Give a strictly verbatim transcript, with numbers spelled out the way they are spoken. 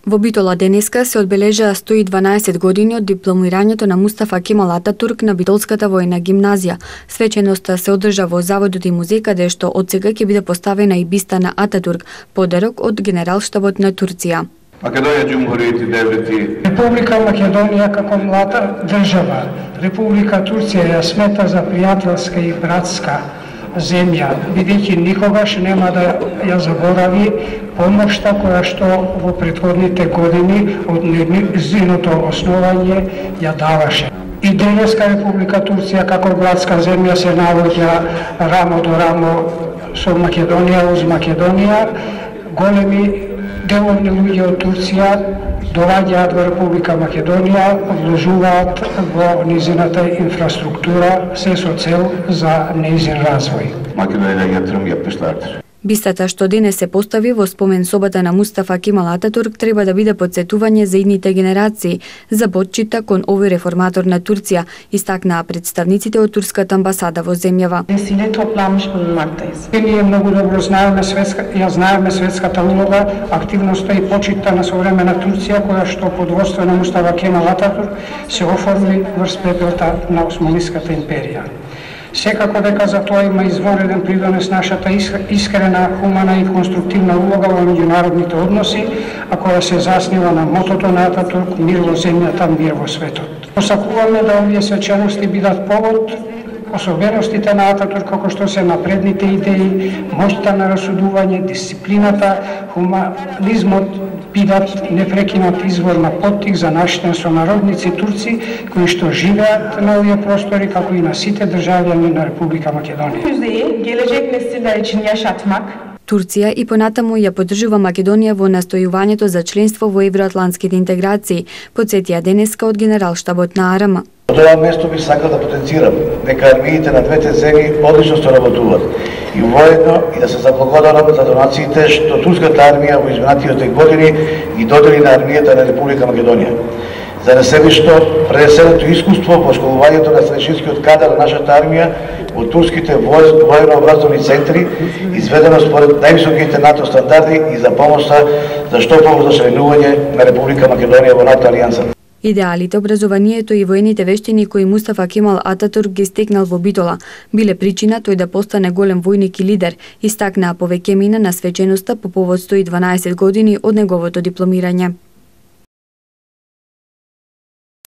Во Битола денеска се одбележаа сто и дванаесет години од дипломирањето на Мустафа Кемал Ататурк на Битолската војна гимназија. Свеченоста се одржа во заводот и музеј, каде што од сега ќе биде поставена и биста на Ататурк, подарок од Генералштабот на Турција. Македонија Џумхуријети девети. Република Македонија како млада држава, Република Турција ја смета за пријателска и братска земја, бидејќи никогаш нема да ја заборави помошта која што во претходните години од нејзиното основање ја даваше. И денеска Република Турција како братска земја се наоѓа рамо до рамо со Македонија, уз Македонија. Големи деловни луѓе од Турција доаѓаат во Република Македонија, вложуваат во низината инфраструктура, се со цел за нејзин развој. Македонија ја трумја пештартер. Бистата што денес се постави во спомен собата на Мустафа Кемал Ататурк треба да биде потсетување за идните генерации, за почита кон овој реформатор на Турција, истакнаа представниците од турската амбасада во земјава. Ние многу добро знаеме светска, ја знаеме светската улога, активноста и почита на современа Турција, која што под водство на Мустафа Кемал Ататурк се оформи врз пепелта на Османската империја. Секако дека за тоа има извореден придонес нашата искрена, хумана и конструктивна улога во меѓународните односи, а која се заснива на мотото на Ататурк мир во земјата, мир во светот. Посакуваме да овие свечености бидат повод особеностите на Ататурк, како што се напредните идеи, моќта на расудување, дисциплината, хуманизмот бидат непрекинат извор на поттик за нашите сонародници турци кои што живеат на овие простори, како и на сите државјани на Република Македонија. Турција и понатаму ја поддржува Македонија во настојувањето за членство во евроатлантските интеграции, потсетија денеска од Генералштабот на АРМ. Од ова место би сакал да потенцирам дека армиите на двете земји одлично соработуваат и воедно и да се заблагодарам за донациите што турската армија во изминатите години ги додели на армијата на Република Македонија. За неселишто пренесеното искуство во школувањето на старешинскиот кадар на нашата армија во турските военно-образовни центри, изведено според највисоките НАТО стандарди и за помоста за што побрзо членување на Република Македонија во НАТО алијансата. Идеалите, образованието и воените вештини кои Мустафа Кемал Ататурк ги стекнал во Битола биле причина тој да постане голем војник и лидер, истакнаа повеќе мина на свеченоста по повод сто и дванаесет години од неговото дипломирање.